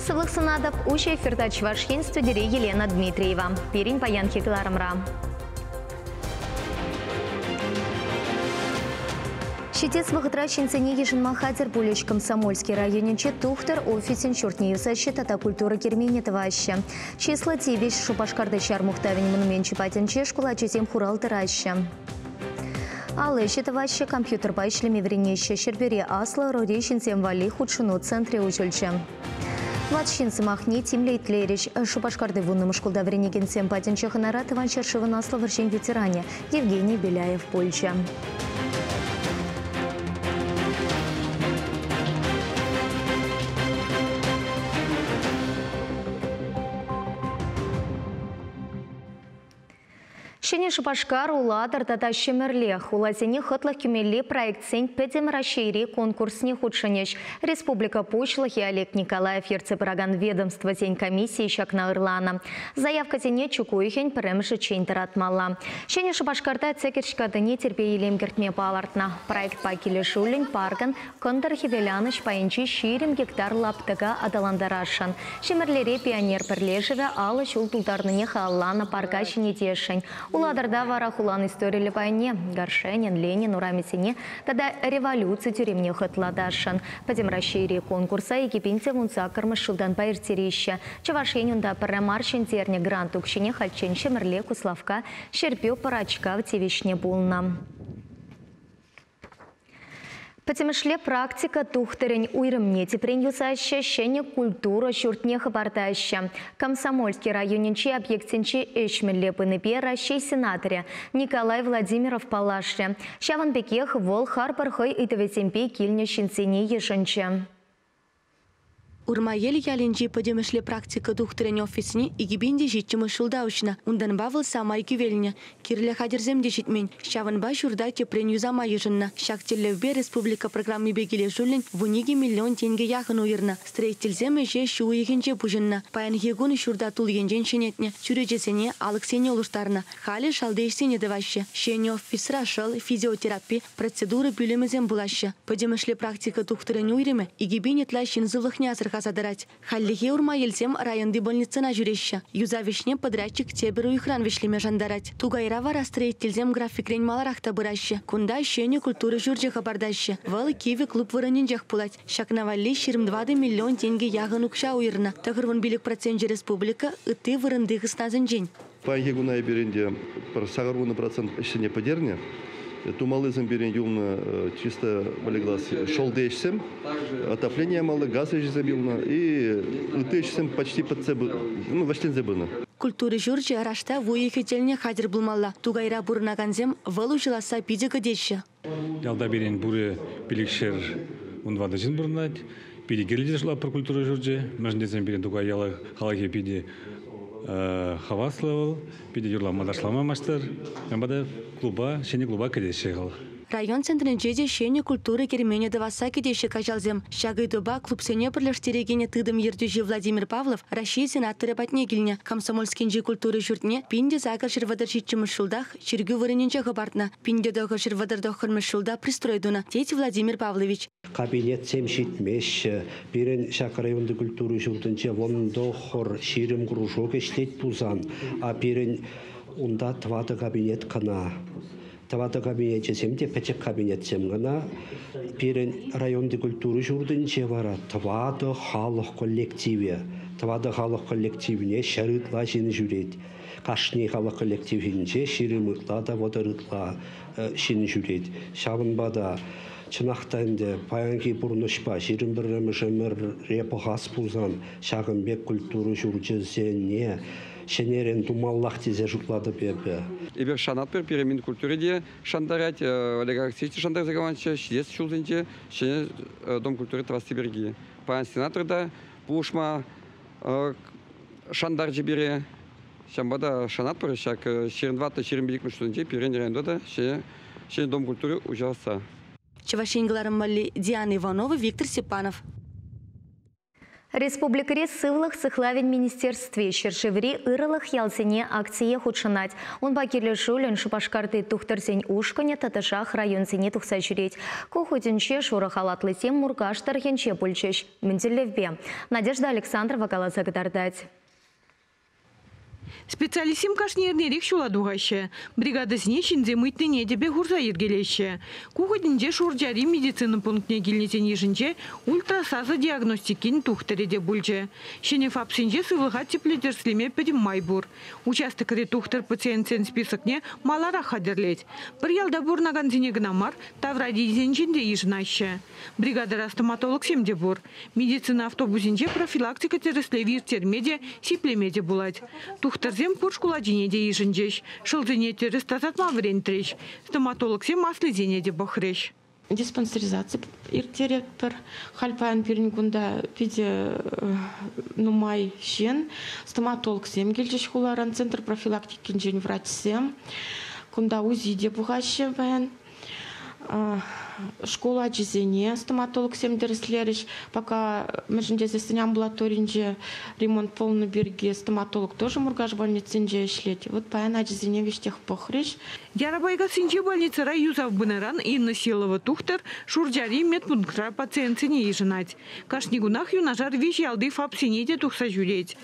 Сывлӑх сунатӑп. Уҫӑ эфирта Чӑваш Ен, студире Елена Дмитриева. Пирӗн паянхи кӑларӑмра. Ҫитес вӑхӑтра ҫынсене йышӑнма хатӗр пулӗҫ. Комсомольски районӗнче тухтӑр офисӗн ҫуртне юсаҫҫӗ тата культура керменне тӑваҫҫӗ. Чыслӑ тивӗҫ Шупашкарти ҫар мухтавӗн монуменчӗ патӗнче шкул ачисем хурал тӑраҫҫӗ. Алӑ ӗҫӗ тӑваҫҫӗ, компьютерпа ӗҫлеме вӗренеҫҫӗ. Ҫӗрпӳре аслӑ ӑрури ҫынсем валли хутшӑну центрӗ уҫӑлчӗ. Ват ҫын сӑмахне тимлӗ итлерӗҫ. Шупашкарти вуннӑмӗш шкулта вӗренекенсем патӗнче хӑнара Тӑван ҫӗршывӑн Аслӑ вӑрҫин ветеранӗ Евгений Беляев пулчӗ. Ҫӗнӗ Шупашкар, Улатӑр тата Ҫӗмӗрле хуласене хӑтлӑх кӳмелли проектсен Пӗтӗм Раҫҫейри конкурсне хутшӑнӗҫ. Республика Пуҫлӑхӗ Олег Николаев ертсе пыракан ведомствӑсен комиссийӗ ҫакна ырланӑ. Заявкӑсене чӳк уйӑхӗн пӗрремӗшӗччен тӑратмалла. Ҫӗнӗ Шупашкарта Тӗкӗрҫ катине тирпей-илем кӗртме палӑртнӑ. Проектпа килӗшӳллӗн паркӑн Кӑнтӑр-хӗвеланӑҫ пайӗнчи 20 гектар лаптӑка аталантарасшӑн. Ҫӗмӗрлере Пионер пӗрлешӗвӗ 50 ҫул тултарнине халалланӑ парка ҫӗнетесшӗн. Улатӑрта вара хулан историллӗ пайне, Горшенин, Ленин урамӗсене тата революци тӳремне хӑтлатасшӑн. Пӗтӗм Раҫҫейри конкурса 2018-мӗш ҫултанпа ирттереҫҫӗ. Чӑваш Ен унта пӗрре мар ҫӗнтернӗ грант укҫине хальччен Ҫӗмӗрле, Куславкка, Ҫӗрпӳ, Пӑрачкав тивӗҫнӗ пулнӑ. Пӗтӗмӗшле практика тухтӑрӗн уйрӑмне тӗпрен юсаҫҫӗ, ҫӗнӗ культура ҫуртне хӑпартаҫҫӗ. Комсомольски районӗнчи объектсенче ӗҫ мӗнле пынипе Раҫҫей сенаторӗ Николай Владимиров паллашрӗ. Ҫавӑн пекех вӑл харпӑр хӑй ыйтӑвӗсемпе килнӗ ҫынсене йышӑнчӗ. Урмаел ялӗнчи пӗтӗмӗшле практика тухтӑрӗн офисне 2007-мӗш ҫулта уҫнӑ. Унтанпа вӑл самай кивелнӗ. Кирлӗ хатӗрсем те ҫитмен. Ҫавӑнпа ҫурта тӗпрен юсама йышӑннӑ. Ҫак тӗллевпе республика программипе килӗшӳллӗн 12 миллион тенкӗ яхӑн уйӑрнӑ. Строительсем ӗҫе ҫу уйӑхӗнче пуҫӑннӑ. Паянхи кун ҫурта тул енчен ҫӗнетнӗ, чӳречесене, алӑксене улӑштарнӑ. Халӗ шалти ӗҫсене тӑваҫҫӗ. Ҫӗнӗ офисра шӑл, физиотерапи, Процедура пӳлӗмӗсем пулаҫҫӗ. Пӗтӗмӗшле практика тухтӑрӗн уйрӑмӗ 2000 ытла ҫын сывлӑхне асӑрхаса тӑрать. Хальлӗхе Урмаелсем районти больницӑна ҫӳреҫҫӗ. Юсав ӗҫне подрядчик тепӗр уйӑхран вӗҫлеме шантарать. Тукайра вара строительсем графикрен маларах та пыраҫҫӗ. Кунта ҫӗнӗ культура ҫурчӗ хӑпартаҫҫӗ. Вӑл кивӗ клуб вырӑнӗнчех пулать. Ҫакна валли 24 миллион тенкӗ яхӑн укҫа уйӑрнӑ. 95 проценчӗ республика, ытти вырӑнти хыснасенчен. Паянхи куна эпир ӗнтӗ пӗр 80% ӗҫсене пӗтернӗ. Тумаллисем пирӗн юлнӑ чисто полиглаз шӑлти ӗҫсем, отопление ямалли, газ ӗҫӗсем юлнӑ и ытти ӗҫсем почти пӗтсе, ну, вӗҫленсе пынӑ. Культура ҫурчӗ раштав уйӑхӗ тӗлне хатӗр пулмалла. Тукайра пурӑнакансем вӑл уҫӑласса питӗ кӗтеҫҫӗ. Ялта пирӗн пурӗ пилӗкшер вунтӑватӑ ҫын пурӑнать. Питӗ кирлӗ те шутлатпӑр культура ҫурчӗ. Мӗншӗн тесен пирӗн Тукай ялӗ халӑхӗ питӗ хаваслӑ вӑл, питӗ юрлама-ташлама маҫтӑр. Ҫавӑнпа та клуба, ҫӗнӗ клуба кӗтеҫҫӗ халӑх. Район центрӗнче те ҫӗнӗ культура керменӗ тӑвасса кӗтеҫҫӗ каҫалсем. Ҫак ыйтупа клубсене пӗрлештерекен тытӑм ертӳҫи Владимир Павлов Раҫҫей сенаторӗ патне килнӗ. Комсомольскинчи культура ҫуртне 1837 ҫултах чиркӳ вырӑнӗнче хӑпартнӑ. 1939 ҫулта пристрой тунӑ, тет Владимир Павлович. Кабинетсем ҫитмеҫҫӗ. Пирӗн ҫак районти культура ҫуртӗнче вунтӑхӑр ҫирӗм кружок ӗҫлет пулсан, а пирӗн унта тӑватӑ кабинет кӑна. Тӑватӑ кабинечӗсем те пӗчӗк кабинетсем кӑна. Пирӗн районти культура ҫуртӗнче вара тӑватӑ халӑх коллективӗ. Тӑватӑ халӑх коллективне 100 ытла ҫын ҫӳрет. Кашни халӑх коллективӗнче 20 ытла та 30 ытла ҫын ҫӳрет. Ҫавӑнпа та чӑнах та ӗнтӗ паянхи пурнӑҫпа 21-мӗш ӗмӗре пӑхас пулсан ҫакӑн пек культура ҫурчӗсене ҫӗнӗрен тумаллах тесе шутлатӑп эпӗ. Эпир шанатпӑр, пире Минкультура те шантарать, Олег Алексеевич те шантарса каланӑччӗ, ҫитес ҫулсенче ҫӗнӗ Дом культуры тӑвасси пирки. Паян сенатор та пулӑшма шантарчӗ пире. Ҫавӑнпа та шанатпӑр ҫак 24-25 ҫулсенче пирӗн районта та ҫӗнӗ Дом культуры уҫӑласса. Чӑваш Ен кӑларӑм валли Диана Иванова, Виктор Степанов. Республикӑри сывлӑх сыхлавӗн министерстви ҫӗршыври ырӑлӑх ялсене акцие хутшӑнать. Унпа килӗшӳллӗн Шупашкарти тухтӑрсен ушкӑнӗ тӑтӑшах районсене тухса ҫӳрет. Ку хутӗнче шурӑ халатлисем Муркаш тӑрӑхӗнче пулчӗҫ. Мӗн тӗллевпе? Надежда Александрова каласа кӑтартать. Специалистсем кашни эрнерех ҫула тухаҫҫӗ. Бригадӑсене ҫынсем ыйтнине тӗпе хурса йӗркелеҫҫӗ. Ку хутӗнче Шурчари медицина пунктне килнисен йышӗнче ультрасасӑ диагностикин тухтӑрӗ те пулчӗ. Ҫӗнӗ ФАПсенче сывлӑха тӗплӗ тӗрӗслеме пӗтӗм май пур. Участокри тухтӑр пациентсен списокне маларах хатӗрлет. Пӗр ялта пурӑнакансене кӑна мар, таврарисенчен те йышӑнаҫҫӗ. Бригадӑра стоматологсем те пур. Медицина автобусӗнче профилактика тӗрӗслевӗ ирттерме те, сиплеме те пулать. Тухтӑрсем пур шкул ачине те йышӑнчӗҫ. Шӑлсене тӗрӗс тасатма вӗрентрӗҫ. Стоматологсем аслисене те пӑхрӗҫ. Диспансеризаци ирттеретпӗр. Халь паян пирӗн кунта питӗ нумай ҫын. Стоматологсем килчӗҫ хуларан, центр профилактикинчен врачсем. Кунта УЗИ те пухаҫҫӗ паян. Шкул ачисене стоматологсем тӗрӗслерӗҫ. Пока мӗншӗн тесессӗн амбулаторинче ремонт пулнӑ пирки стоматолог тоже Муркаш больницинче ӗҫлет. Вот паян ачисене веҫтех пӑхрӗҫ. Ярапайкассинчи больницӑра юсав пынӑран Инна Силова тухтӑр Шурчари медпунктра пациентсене йышӑнать. Кашни кунах юнашар виҫ ялти ФАПсене те тухса ҫӳрет.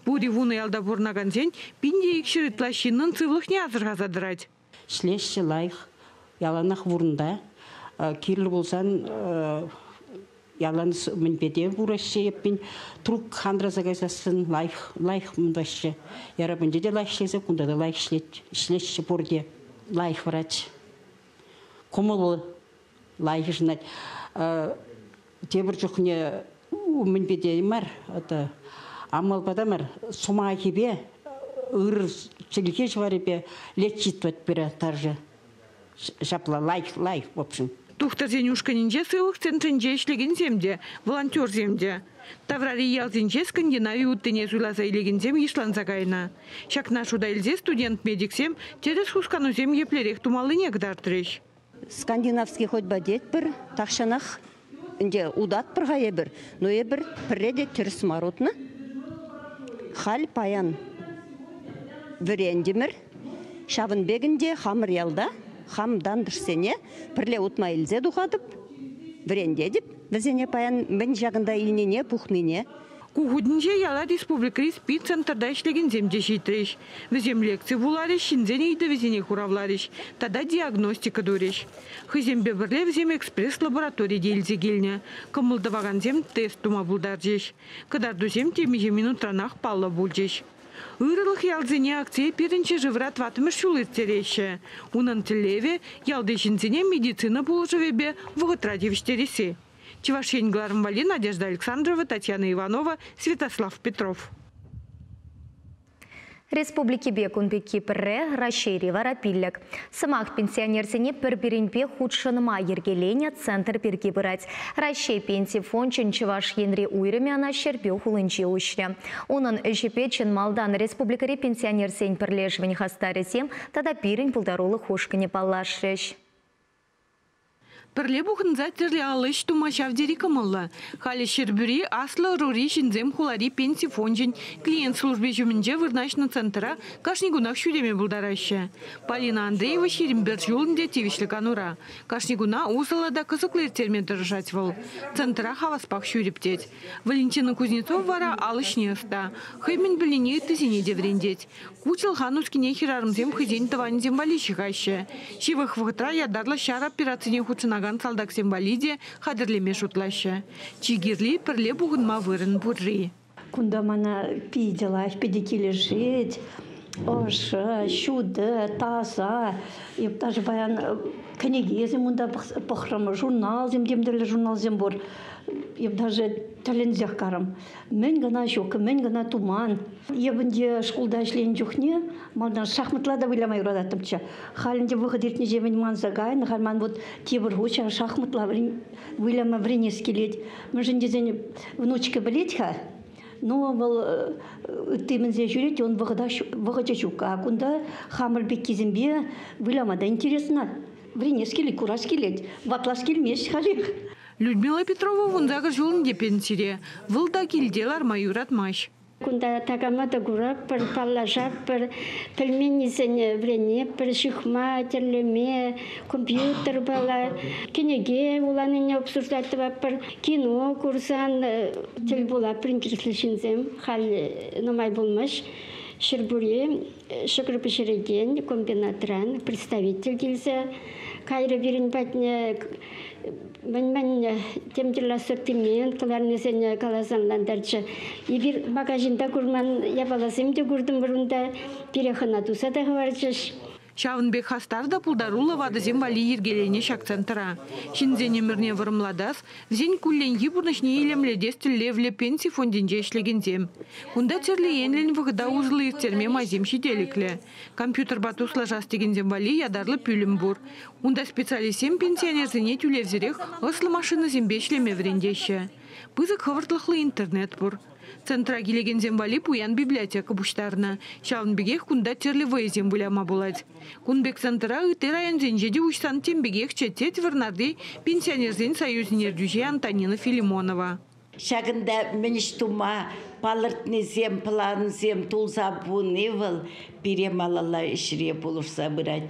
Пури вунӑ ялта пурӑнакансен 1200 ытла ҫыннӑн сывлӑхне асӑрхаса тӑрать. Ӗҫлеҫҫӗ лайӑх. Яланах вырӑнта. Кирлӗ пулсан ялан мӗнпе те пураҫҫӗ эппин. Трук хандраса кайсассӑн лайӑх, лайӑх мӑнтаҫҫӗ. Ярапӗнче те лайӑх ӗҫлесе, кунта та лайӑх ӗҫлет, ӗҫлеҫҫӗ пурте. Лайӑх врач. Кӑмӑллӑ лайӑх йышӑнать. Тепӗр чухне мӗнпе те мар, это амалпа та мар, сӑмахӗпе, ыр чӗлхе ҫӑварӗпе лечить пире таржы. Ҫапла лайӑх, лайӑх, в общем. Тухтӑрсен ушкӑнӗнче сывлӑх центрӗнче ӗҫлекенсем те, волонтерсем те. Таврари ялсенче Скандинави уттине суйласа илекенсем йышланса кайнӑ. Ҫакна шута илсе студент-медиксем тӗрӗс хусканусем еплерех тумаллине кӑтартрӗҫ. Скандинавский ходьба тетпӗр, тахҫанах ӗнтӗ утатпӑр-ха эпир, но эпир пӗрре те тӗрӗс мар утнӑ. Халь паян вӗрентӗмӗр. Ҫавӑн пек ӗнтӗ хамӑр ялта, хам тантӑшсене пӗрле утма илсе тухатӑп, вӗрентетӗп. Вӗсене паян мӗн ҫакӑнта илнине, пухнине. Ку хутӗнче яла республикӑри СПИД-центрта ӗҫлекенсем те ҫитрӗҫ. Вӗсем лекци вуларӗҫ, ҫынсен ыйтӑвӗсене хуравларӗҫ тата диагностика турӗҫ. Хӑйсемпе пӗрле вӗсем экспресс-лаборатори те илсе килнӗ. Кӑмӑл тӑвакансем тест тума пултарчӗҫ. Кӑтартусем темиҫе минутранах паллӑ пулчӗҫ. Ырӑлӑх ялсене акцие пирӗн ҫӗршывра тӑваттӑмӗш ҫул ирттереҫҫӗ. Унӑн тӗллевӗ ялти ҫынсене медицина пулӑшӑвӗпе вӑхӑтра тивӗҫтересси. Чӑваш Ен кӑларӑм валли Надежда Александрова, Татьяна Иванова, Святослав Петров. Республикипе кун пекки пӗрре, Раҫҫейри вара пиллӗк. Сӑмах пенсионерсене пӗр-пӗринпе хутшӑнма йӗркеленӗ центр пирки пырать. Раҫҫей Пенси фончӗн Чӑваш Енри уйрӑмӗ ӑна Ҫӗрпӳ хулинче уҫрӗ. Унӑн ӗҫӗпе чӑн малтан республикӑри пенсионерсен пӗрлешӗвӗн хастарӗсем тата пирӗн пултарулӑх ушкӑнӗ паллашрӗҫ. Пӗрле пухӑнса тӗрлӗ алӑ ӗҫ тума ҫав тери кӑмӑллӑ. Халӗ Ҫӗрпӳри аслӑ ӑрури ҫынсем хулари пенси фончӗн клиент служби ҫумӗнче вырнаҫнӑ центра кашни кунах ҫӳреме пултараҫҫӗ. Полина Андреева ҫирӗм пӗр ҫул ӗнтӗ тивӗҫлӗ канура. Кашни куна усӑллӑ та кӑсӑклӑ ирттерме тӑрӑшать вӑл. Центра хаваспах ҫӳреп тет. Валентина Кузнецова вара ал ӗҫне ӑста. Хӑй мӗн пӗлнине ыттисене те вӗрентет. Ку чӑлхан ускине хӗрарӑмсем хӑйсен тӑванӗсем валли ҫыхаҫҫӗ. Ҫывӑх вӑхӑтра ятарлӑ ҫар операцине хутшӑнакан салтаксем валли те хатӗрлеме шутлаҫҫӗ. Чи кирли пӗрле пухӑнма вырӑн пурри. Кунта мана питӗ лайӑх, питӗ килӗшет. Ӑшӑ, ҫутӑ, таса. Эп даже паян кӗнекесем унта пӑхрӑм, журналсем, тем тӗрлӗ журналсем пур. Эп даже тӗлӗнсех карӑм. Мӗн кӑна ҫук, мӗн кӑна туман. Эп ӗнтӗ шкулта ӗҫленӗ чухне малтан шахматла та выляма юрататтӑмччӗ. Халь ӗнтӗ вӑхӑт иртнӗҫемӗн манса кайнӑ. Халь ман вот тепӗр хут ҫав шахматла выляма вӗренес килет. Мӗншӗн тесен внучка пӗлет-ха. Но вӑл ытти мӗнсе ҫӳрет, он вӑхӑчӗ ҫук. А кунта хамӑр пеккисемпе выляма та интересно. Вӗренес килет, курас килет. Ватлас килмест халех. Людмила Петрова вунсакӑр ҫул ӗнтӗ пенсире. Вӑл та килте ларма юратмасть. Кунта такама та куратпӑр, паллашатпӑр, пӗлменнисене вӗренетпӗр, ҫыхма, тӗрлеме, компьютер пала, кӗнеке вуланине обсуждать тӑватпӑр, кино курсан тӗл пулатпӑр интереслӗ ҫынсем. Халь нумай пулмасть Ҫӗрпӳре ҫӑкӑр пӗҫерекен комбинатран представитель килсе кайрӗ пирӗн патне. Мӗн-мӗн тем тӗрлӗ ассортимент кӑларнисене каласа ӑнлантарчӗ. Эпир магазинта курман япаласем те куртӑмӑр унта, пире хӑна туса та хӑварчӗҫ. Ҫавӑн пек хастар та пултаруллӑ ватӑсем валли йӗркеленӗ ҫак центра. Ҫынсен ӗмӗрне вӑрӑмлатас, вӗсен кулленхи пурнӑҫне илемлетес тӗллевлӗ пенси фондӗнче ӗҫлекенсем. Кунта тӗрлӗ енлӗн вӑхӑта усӑллӑ ирттерме майсем ҫителӗклӗ. Компьютерпа туслашас текенсем валли ятарлӑ пӳлӗм пур. Унта специалистсем пенсионерсене тӳлевсӗрех ӑслӑ машинӑсемпе ӗҫлеме вӗрентеҫҫӗ. Пысӑк хӑвӑртлӑхлӑ интернет пур. Центра килекенсем валли пуян библиотека пуҫтарнӑ. Ҫавӑн пекех кунта тӗрлӗ вӑйӑсем выляма пулать. Кун пек центра ытти районсенче те уҫсан тем пекехчӗ, тет Вӑрнарти пенсионерсен союзӗн ертӳҫи Антонина Филимонова. Ҫакӑнта мӗн ӗҫ тума палӑртнисем, плансем тулса пыни вӑл пире малалла ӗҫре пулӑшса пырать.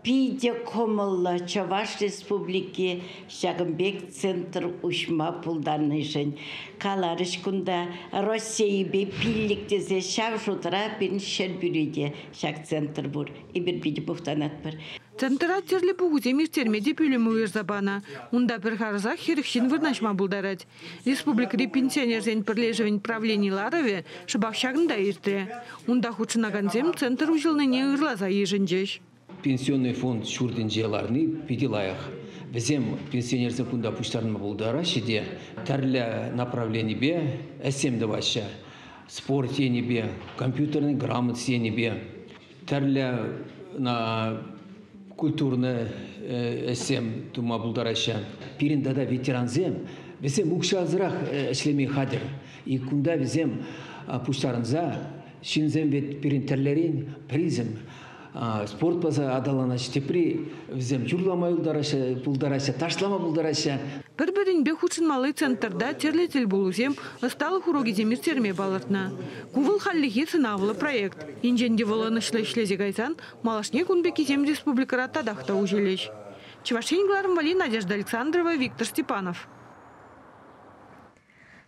Питӗ кӑмӑллӑ Чӑваш Республики ҫакӑн пек центр уҫма пултарнишӗн. Каларӗҫ кунта Российӑпе пиллӗк тесе ҫав шутра пирӗн Ҫӗрпӳре те ҫак центр пур. Эпир питӗ мухтанатпӑр. Центра тӗрлӗ пухусем ирттерме те пӳлӗм уйӑрса панӑ. Унта пӗр харӑсах 40 ҫын вырнаҫма пултарать. Республикӑри пенсионерсен пӗрлешӗвӗн правлени ларӑвӗ шӑпах ҫакӑнта иртрӗ. Унта хутшӑнакансем центр уҫӑлнине ырласа йышӑнчӗҫ. Пенсионный фонд ҫуртӗнче ларни питӗ лайӑх. Вӗсем пенсионерсем кунта пуҫтарӑнма пултараҫҫӗ те тӗрлӗ направленипе ӗҫсем тӑваҫҫӗ. Спорт енӗпе, компьютерный грамотность енӗпе, тӗрлӗ культурный ӗҫсем тума пултараҫҫӗ. Пирӗн тата ветерансем, вӗсем укҫасӑрах ӗҫлеме хатӗр. И кунта вӗсем пуҫтарӑнса, ҫынсем вӗт пирӗн тӗрлӗрен пӗрисем спорт база аталанаҫҫӗ, тепри вӗсем юрлама пултараҫҫӗ, ташлама пултараҫҫӗ. Пӗр-пӗринпе хутшӑнмалли центрта тӗрлӗ тӗлпулусем, ӑсталӑх урокӗсем ирттерме палӑртнӑ. Ку вӑл хальлӗхе сӑнавлӑ проект. Енчен те вӑл ӑнӑҫлӑ ӗҫлесе кайсан, малашне кун пеккисем республикӑра татах та уҫӑлӗҫ. Чӑваш Ен кӑларӑм валли Надежда Александрова, Виктор Степанов.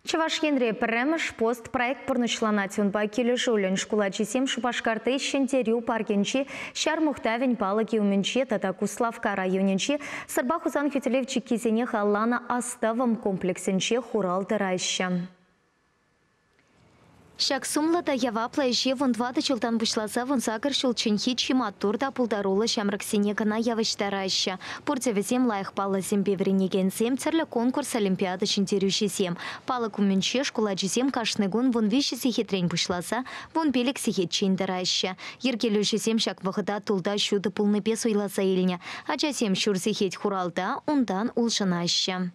Чӑваш Енре пӗрремӗш пост проект пурнӑҫланать. Унпа килӗшӳллӗн шкул ачисем Шупашкарти Ҫӗнтерӳ паркӗнчи Ҫар мухтавӗн палӑкӗ умӗнче тата Куславкка районӗнчи Сӑрпа Хусан хӳтӗлев чиккисене халалланӑ астӑвӑм комплексӗнче хурал тӑраҫҫӗ. Ҫак сумлӑ та яваплӑ ӗҫе 14 ҫултан пуҫласа 18 ҫулчченхи чи маттур та пултаруллӑ ҫамрӑксене кӑна явӑҫтараҫҫӗ. Пурте вӗсем лайӑх паллӑсемпе вӗренекенсем, тӗрлӗ конкурс олимпиада ҫӗнтерӳҫисем. Палӑк умӗнче шкул ачисем кашни кун 13 сехетрен пуҫласа 15 сехетчен тӑраҫҫӗ. Йӗркелӳҫӗсем ҫак вӑхӑта тулта ҫутӑ пулнипе суйласа илнӗ. Ачасем ҫур сехет хуралта, унтан улшӑнаҫҫӗ.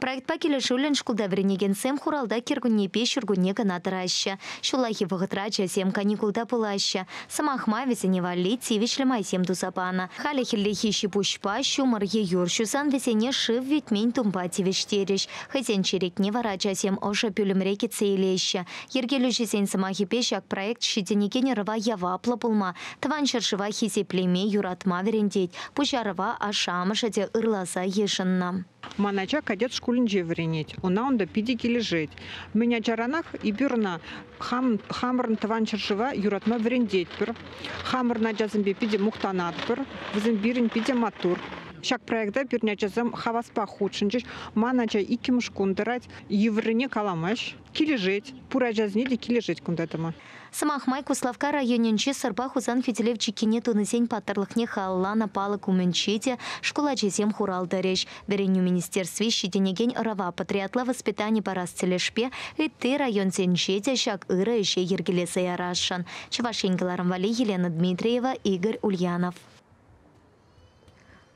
Проектпа килӗшӳллӗн шкулта вӗренекенсем хуралта кӗркуннепе ҫуркунне кӑна тӑраҫҫӗ. Ҫуллахи вӑхӑтра ачасем каникулта пулаҫҫӗ. Сӑмах май вӗсене валли тивӗҫлӗ майсем туса панӑ. Халӗ хӗллехи ҫи-пуҫпа ҫумӑр е юр ҫусан вӗсене шыв витмен тумпа тивӗҫтерӗҫ. Хӑйсен черетне вара ачасем ӑшӑ пӳлӗмре кӗтсе илеҫҫӗ. Йӗркелӳҫӗсен сӑмахӗпе ҫак проект ҫитӗнекен ӑрӑва яваплӑ пулма, тӑван ҫӗршыва хисеплеме, юратма вӗрентет. Пуҫарӑва ашшӗ-амӑшӗ те ырласа йышӑннӑ. Ман ача кадет шкулӗнче вӗренет. Ӑна унта питӗ килӗшет. Мӗн ачаранах эпир ӑна хамӑрӑн тӑван ҫӗршыва юратма вӗрентетпӗр. Хамӑрӑн ачасемпе питӗ мухтанатпӑр. Вӗсем пирӗн питӗ маттур. Ҫак проекта пирӗн ачасем хаваспах хутшӑнчӗҫ. Ман ача иккӗмӗш кун тӑрать. Йывӑррине каламасть. Килӗшет. Пур ачасене те килӗшет кунта тӑма. Сӑмах май, Куславкка районӗнчи Сӑрпа Хусан хӳтӗлев чиккине тунисен паттӑрлӑхне халалланӑ палӑк умӗнче те шкул ачисем хурал тӑрӗҫ. Вӗренӳ министерстви ҫитӗнекен ӑрӑва патриотла воспитани парас тӗлӗшпе ытти районсенче те ҫак ырӑ ӗҫе йӗркелесе ярасшӑн. Чӑваш Ен кӑларӑм валли Елена Дмитриева, Игорь Ульянов.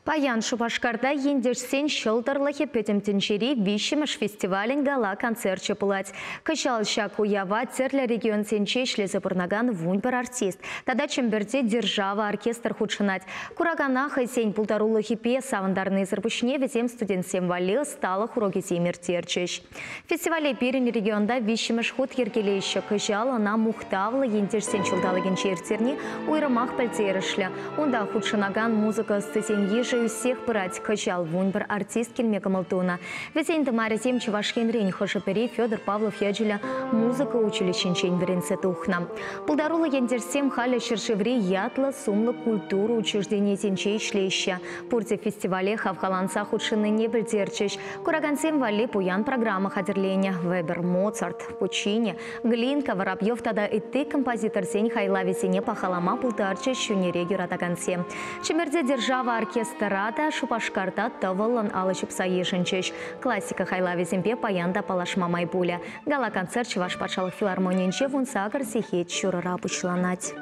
Паян Шупашкарта ентешсен ҫӑлтӑрлӑхӗ пӗтӗм тӗнчери 3-мӗш фестивалӗн гала-концерчӗ пулать. Кӑҫал ҫак уява тӗрлӗ регионсенче ӗҫлесе пурӑнакан 11 артист тата Чӗмпӗрте «Держава» оркестр хутшӑнать. Куракана хӑйсен пултарулӑхӗпе савӑнтарнисӗр пуҫне вӗсем студентсем валли ӑсталӑх урокӗсем ирттерчӗҫ. Фестивале пирӗн регионта 3-мӗш хут йӗркелеҫҫӗ. Кӑҫал ӑна мухтавлӑ ентешсен ҫулталӑкӗнче ирттерни уйрӑмах пӗлтерӗшлӗ. Унта хутшӑнакан музыка ӑстисен йышӗ ӳссех пырать. Кӑҫал 11 артист килме кӑмӑл тунӑ. Вӗсен тымарӗсем Чӑваш Енрен, хӑшӗ-пӗри Федор Павлов ячӗллӗ музыка училищинчен вӗренсе тухнӑ. Пултаруллӑ ентешсем халӗ ҫӗршыври ятлӑ сумлӑ культура учрежденийӗсенче ӗҫлеҫҫӗ. Пурте фестивале хавхаланса хутшӑннине пӗлтерчӗҫ. Куракансем валли пуян программа хатӗрленӗ. Вебер, Моцарт, Пуччини, Глинка, Воробьев тата ытти композиторсен хайлавӗсене пахалама пултарчӗҫ ҫӳнере юратакансем. Чӗмпӗрте «Держава» оркестра та Шупашкарта тӑвӑллӑн алӑ ҫупса йышӑнчӗҫ. Классика хайлавӗсемпе паян та паллашма май пулӗ. Гала-концерт Чӑваш патшалӑх филармонийӗнче 18 сехет ҫурӑра пуҫланать.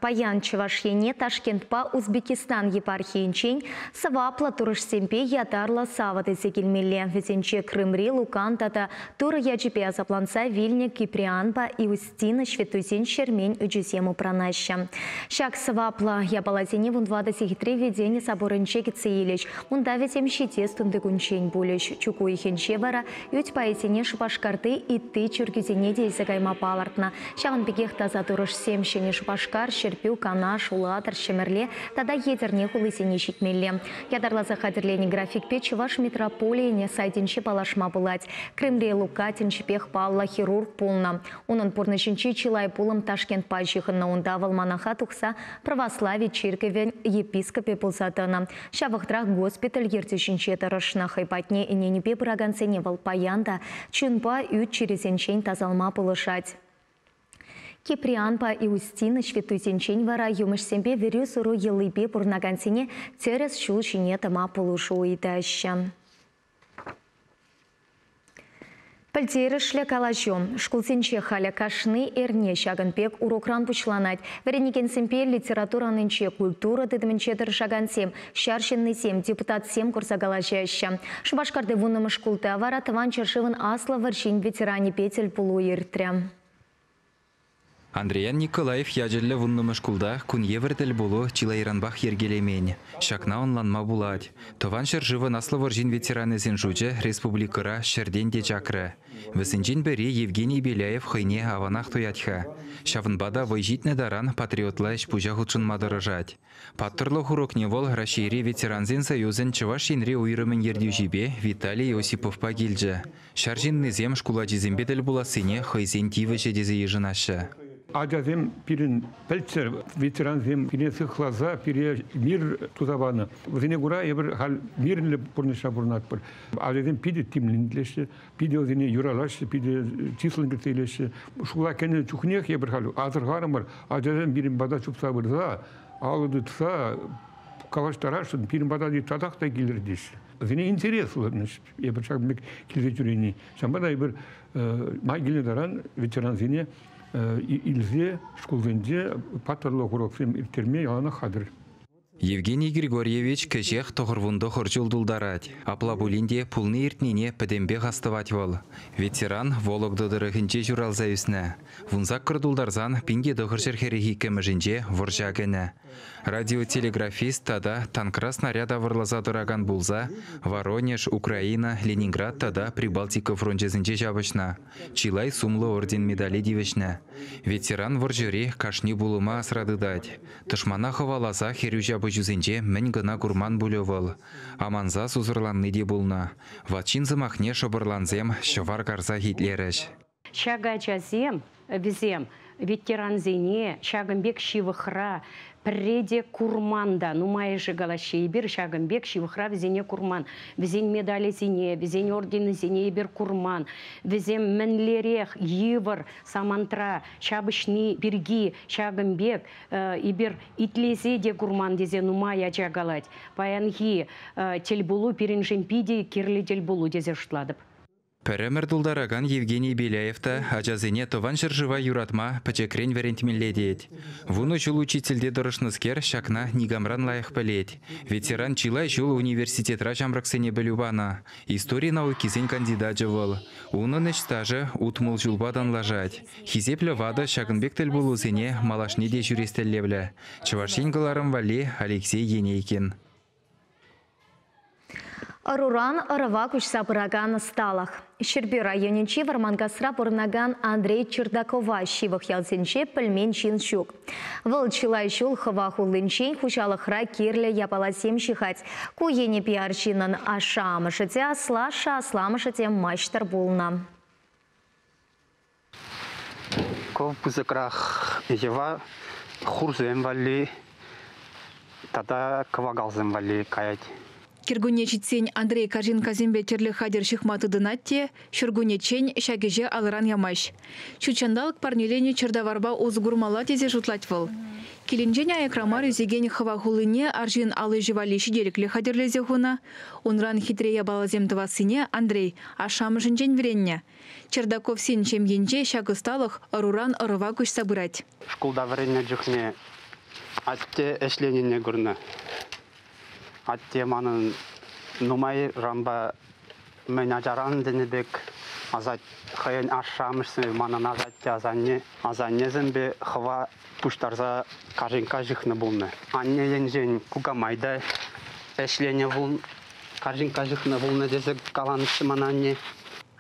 Паян Чӑваш Ене Ташкентпа Узбекистан епархийӗнчен сӑваплӑ турӑшсемпе ятарлӑ савӑт илсе килмелле. Вӗсенче Крымри Лукан тата Турӑ ячӗпе асапланса вилнӗ Киприанпа Иустина ҫветтуйсен ҫӗрмен ӳчӗсем упранаҫҫӗ. Ҫак сӑваплӑ япаласене 14 сехетре Введени соборӗнче кӗтсе илӗҫ. Унта вӗсем ҫитес тунтикунччен пулӗҫ. Чӳк уйӑхӗнче вара ӳт пайӗсене Шупашкарти ытти чиркӳсене те илсе кайма палӑртнӑ. Ҫавӑн пекех таса турӑшсем Ҫӗнӗ Шупашкар, Ҫӗрпӳ, Канаш, Улатӑр, Ҫӗмӗрле тата Етӗрне хулисене ҫитмелле. Ятарласа хатӗрленӗ графикпе Чӑваш митрополийӗн сайтӗнче паллашма пулать. Крымри Лука тӗнчипех паллӑ хирург пулнӑ. Унӑн пурнӑҫӗнчи чылай пулӑм Ташкентпа ҫыхӑннӑ. Унта вӑл манаха тухса православи чиркӗвӗн епископӗ пулса тӑнӑ. Ҫав вӑхӑтрах госпиталь ертӳҫинче тӑрӑшнӑ. Хӑй патне ӗненӳпе пыракансене вӑл паян та чунпа ӳт чирӗсенчен тасалма пулӑшать. Киприанпа Иустина ҫветтуйсенчен вара юмӑҫсемпе вӗрӳ-суру йӑлипе пурӑнакансене тӗрӗс ҫул ҫине тӑма пулӑшу ыйтаҫҫӗ. Пӗлтерӗшлӗ калаҫу. Шкулсенче халӗ кашни эрне ҫакӑн пек урокран пуҫланать. Вӗренекенсемпе литература анинче, культура тытӑмӗнче тӑрӑшакансем, ҫар ҫыннисем, депутатсем курса калаҫаҫҫӗ. Шупашкарти 10-мӗш шкулта вара Тӑван ҫӗршывӑн Аслӑ вӑрҫин ветеранӗпе тӗлпулу иртрӗ. Андриян Николаев ячӗллӗ 10-мӗш шкулта кун евӗр тӗлпулу чылайранпах йӗркелемен. Ҫакна ӑнланма пулать. Тӑван ҫӗршывӑн Аслӑ вӑрҫин ветеранӗсен шучӗ республикӑра ҫӗртен те чакрӗ. Вӗсенчен пӗри Евгений Беляев хӑйне аванах туять-ха. Ҫавӑнпа та вӑй ҫитнӗ таран патриотла ӗҫ-пуҫа хутшӑнма тӑрӑшать. Паттӑрлӑх урокне вӑл Раҫҫейри ветерансен союзӗн Чӑваш Енри уйрӑмӗн ертӳҫипе Виталий Осиповпа килчӗ. Ҫар ҫыннисем шкул ачисемпе тӗл пулассине хӑйсен тивӗҫӗ тесе йышӑнаҫҫӗ. Ачасем пирӗн пӗлччӗр, ветерансем пире сыхласа, пире мир туса панӑ. Вӗсене кура эпир халь мирлӗ пурнӑҫра пурӑнатпӑр. Ачасем питӗ тимлӗн итлеҫҫӗ, питӗ вӗсене юратаҫҫӗ, питӗ чыслӑн кӗтсе илеҫҫӗ. Шкула кӗнӗ чухнех эпир халь асӑрхарӑмӑр, ачасем пирӗн пата чупса пырса, алӑ тытса калаҫтарасшӑн, пирӗн пата татах та килӗр теҫҫӗ. Вӗсене интереслӗ, эпир ҫакӑн пек килсе ҫӳрени. Ҫавӑнпа та эпир май килнӗ таран ветерансене илсе шкулсенче паттӑрлӑх уроксем ирттерме яланах хатӗр. Евгений Григорьевич кӗҫех 99 ҫул тултарать. Апла пулин те пулни-иртнине пӗтӗмпех астӑвать вӑл. Ветеран Вологда тӑрӑхӗнче ҫуралса ӳснӗ. 18 тултарсан 1942-мӗшӗнче вӑрҫа кӗнӗ. Радиотелеграфист тата танкра снаряд авӑрласа тӑракан пулса Воронеж, Украина, Ленинград тата Прибалтика фрончӗсенче ҫапӑҫнӑ. Чылай сумлӑ орден-медале тивӗҫнӗ. Ветеран вӑрҫӑри кашни пулӑма асра тытать. Тӑшмана хӑваласа хӗрӳ ҫапӑҫусенче мӗн кӑна курман пулӗ вӑл. Аманса сусӑрланни те пулнӑ. Ват ҫын сӑмахне шӑпӑрлансем ҫӑвар карсах итлерӗҫ. Ҫак ачасем, вӗсем ветерансене ҫакӑн пек ҫывӑхра пӗрре те курман та. Нумайӑшӗ калаҫҫӗ, эпир ҫакӑн пек ҫывӑхра вӗсене курман. Вӗсен медалӗсене, вӗсен орденӗсене эпир курман. Вӗсем мӗнлерех йывӑр самантра ҫапӑҫни пирки ҫакӑн пек эпир итлесе те курман тесе нумай ача калать. Паянхи тӗлпулу пирӗншӗн питӗ кирлӗ тӗлпулу тесе шутлатӑп. Пӗр ӗмӗр тултаракан Евгений Беляев та ачасене Тӑван ҫӗршыва юратма пӗчӗкрен вӗрентмелле тет. Вунӑ ҫул учительте тӑрӑшнӑскер ҫакна никамран лайӑх пӗлет. Ветеран чылай ҫул университетра ҫамрӑксене пӗлӳ панӑ. Истори наукисен кандидачӗ вӑл. Унӑн ӗҫ стажӗ 60 ҫулпа танлашать. Хисеплӗ ватӑ ҫакӑн пек тӗлпулусене малашне те ҫӳрес тӗллевлӗ. Чӑваш Ен кӑларӑм валли Алексей Енейкин. Ӑруран ӑрӑва куҫса пыракан ӑсталӑх. Ҫӗрпӳ районӗнчи Вӑрманкасра пурӑнакан Андрей Чердакова ҫывӑх ялсенче пӗлмен ҫын ҫук. Вӑл чылай ҫул хӑва хуллинчен хуҫалӑхра кирлӗ япаласем ҫыхать. Ку енӗпе арҫыннӑн ашшӗ-амӑшӗ те, аслашшӗ-асламӑшӗ те маҫтӑр пулнӑ. Ку пысӑкрах йӑва хурсем валли тата кӑвакалсем валли каять. Кӗркунне ҫитсен Андрей карҫинккасемпе тӗрлӗ хатӗр ҫыхма тытӑнать те ҫуркуннеччен ҫак ӗҫе алӑран ямасть. Ҫут ҫанталӑк парнеленӗ чӗртаварпа усӑ курмалла тесе шутлать вӑл. Килӗнчен аякра мар ӳсекен хӑва хуллине арҫын ал ӗҫӗ валли ҫителӗклӗ хатӗрлесе хунӑ. Унран хитре япаласем тӑвассине Андрей ашшӗ-амӑшӗнчен вӗреннӗ. Чердаковсен ҫемйинче ҫак ӑсталӑх ӑруран ӑрӑва куҫса пырать. Шкулта вӗреннӗ чухне атте ӗҫленине курнӑ. Атте манӑн нумайранпа мӗн ачаран тенӗ пек асат хӑйӗн ашшӗ-амӑшӗсемпе манӑн асатте асанне асаннесемпе хӑва пуҫтарса карҫинкка ҫыхнӑ пулнӑ. Анне енчен кукамай та ӗҫленӗ пул карҫинкка ҫыхнӑ пулнӑ тесе каланӑччӗ мана анне.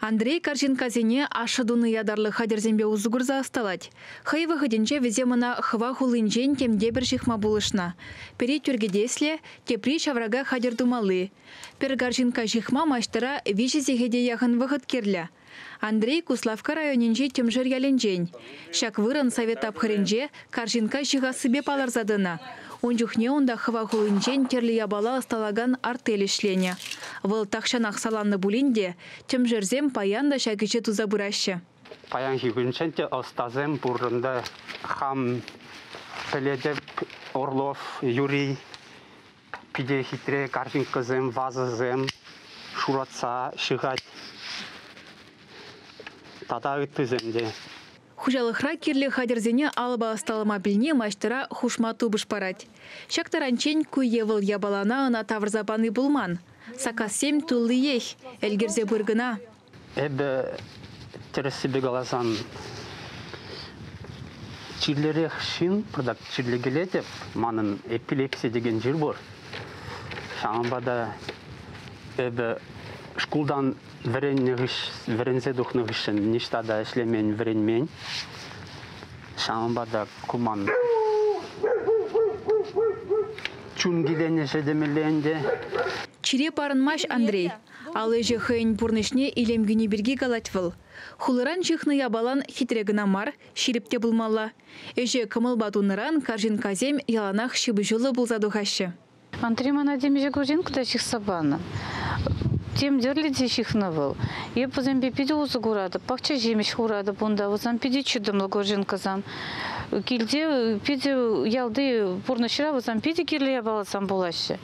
Андрей карҫинккасене ашшӗ тунӑ ятарлӑ хатӗрсемпе усӑ курса ӑсталать. Хӑй вӑхӑтӗнче вӗсем ӑна хӑва хуллинчен темтепӗр ҫыхма пулӑшнӑ. Пӗри тӳркӗтесле, тепри ҫаврака хатӗр тумалли. Пӗр карҫинкка ҫыхма маҫтӑра виҫӗ сехете яхӑн вӑхӑт кирлӗ. Андрей Куславкка районӗнчи Тӗмшер ялӗнчен. Ҫак вырӑн совет тапхӑрӗнче карҫинкка ҫыхассипе палӑрса тӑнӑ. Ун чухне унта хӑва хуллинчен тӗрлӗ япала ӑсталакан артель ӗҫленӗ. Вӑл тахҫанах саланнӑ пулин те тӗмшерсем паян та ҫак ӗҫе туса пыраҫҫӗ. Паянхи кунччен те ӑстасем пур ӗнтӗ. Хам пӗлетӗп, Орлов Юрий питӗ хитре карҫинккасем, вазӑсем шуратса ҫыхать. Тата ыттисем те. Хуҫалӑхра кирлӗ хатӗрсене алӑпа ӑсталама пӗлни маҫтӑра хушма тупӑш парать. Ҫак таранччен ку е вӑл япалана ӑна тавӑрса пани пулман. Саккассем туллиех, ӗлкӗрсе пыр кӑна. Эпӗ тӗрӗссипе каласан чирлӗрех ҫын, пӑртак чирлекелетӗп. Манӑн эпилепси текен чир пур. Ҫавӑнпа та эпӗ шкултан вӗреннӗ вӗренсе тухнӑ хыҫҫӑн ниҫта та ӗҫлемен, вӗренмен. Ҫавӑнпа та ку ман чун киленӗҫӗ темелле ӗнтӗ. Чире парӑнмасть Андрей. Ал ӗҫӗ хӑйӗн пурнӑҫне илем кӳни пирки калать вӑл. Хулӑран ҫыхнӑ япалан хитре кӑна мар, ҫирӗп те пулмалла. Ӗҫе кӑмӑлпа тунӑран карҫинккасем яланах ҫыпӑҫуллӑ пулса тухаҫҫӗ. Андрей мана темиҫе корзинка та ҫыхса панӑ. Тем тӗрлӗ те ҫыхнӑ вӑл. Эп вӗсемпе питӗ усӑ куратӑп, пахча ҫимӗҫ хуратӑп унта. Вӗсем питӗ чӑтӑмлӑ корзинкӑсем. Килте питӗ ялти пурнӑҫра вӗсем питӗ кирлӗ япаласем пулаҫҫӗ.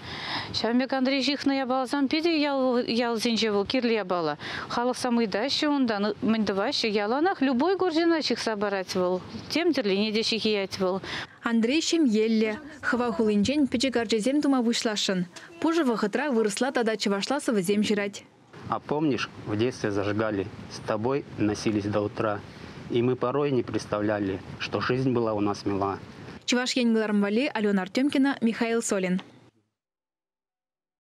Ҫавӑн пек Андрей ҫыхнӑ япаласем питӗ ял, ялсенче вӑл кирлӗ япала. Халӑхсем ыйтаҫҫӗ унтан, мӗн тӑваҫҫӗ. Яланах любой корзина ҫыхса парать вӑл. Тем тӗрлине те ҫыхиять вӑл. Андрей ҫемьеллӗ. Хӑва хулинчен пӗчӗк арчасем тума пуҫласшӑн. Пушӑ вӑхӑтра вырӑсла тата чӑвашла сӑвӑсем ҫырать. А помнишь, в детстве зажигали, с тобой носились до утра, и мы порой не представляли, что жизнь была у нас мила. Чӑваш Ен кӑларӑм валли Алена Артемкина, Михаил Солин.